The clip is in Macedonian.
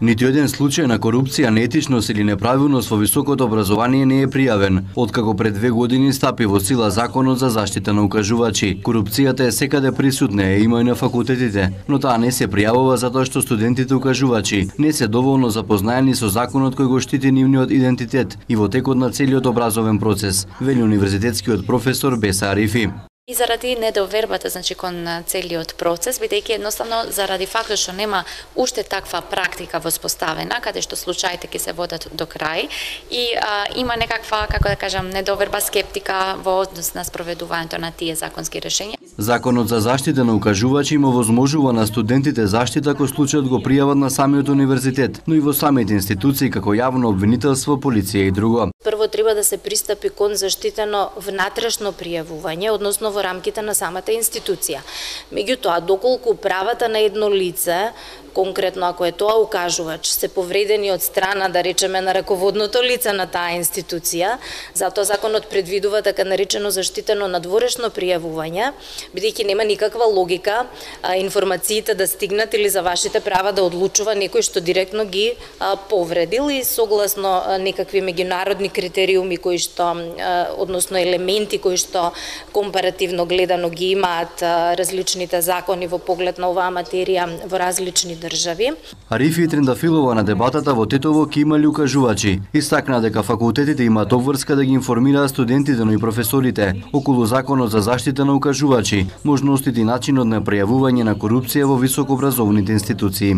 Ниту еден случај на корупција, неетичност или неправилност во високото образование не е пријавен, откако пред 2 години стапи во сила Законот за заштита на укажувачи. Корупцијата е секаде присутна, има и на факултетите, но таа не се пријавува затоа што студентите укажувачи не се доволно запознаени со законот кој го штити нивниот идентитет и во текот на целиот образовен процес, вели универзитетскиот професор Беса Арифи. И заради недовербата, кон целиот процес, бидејќи едноставно заради фактот што нема уште таква практика воспоставена, каде што случаите ќе се водат до крај и има некаква, како да кажам, недоверба, скептика во однос на спроведувањето на тие законски решења. Законот за заштита на укажувачи му возможува на студентите заштита ако случајот го пријават на самиот универзитет, но и во самите институции како јавно обвинителство, полиција и друго. Прво треба да се пристапи кон заштитено внатрешно пријавување, односно во рамките на самата институција. Меѓутоа, доколку правата на едно лице, конкретно ако е тоа укажувач, се повредени од страна, да речеме, на раководното лице на таа институција, затоа законот предвидува така наречено заштитено надворешно пријавување, бидејќи нема никаква логика информациите да стигнат или за вашите права да одлучува некој што директно ги повредил и согласно некакви меѓународни критериуми кои што, односно елементи кои што компаративно гледано ги имаат различните закони во поглед на оваа материја во различни држави. Арифи Трендафилова на дебатата во Тетово ќе имали укажувачи. Истакна дека факултетите имаат обврска да ги информираат студентите, но и професорите околу Законот за заштита на укажувачи, можностите и начинот на пријавување на корупција во високообразовните институции.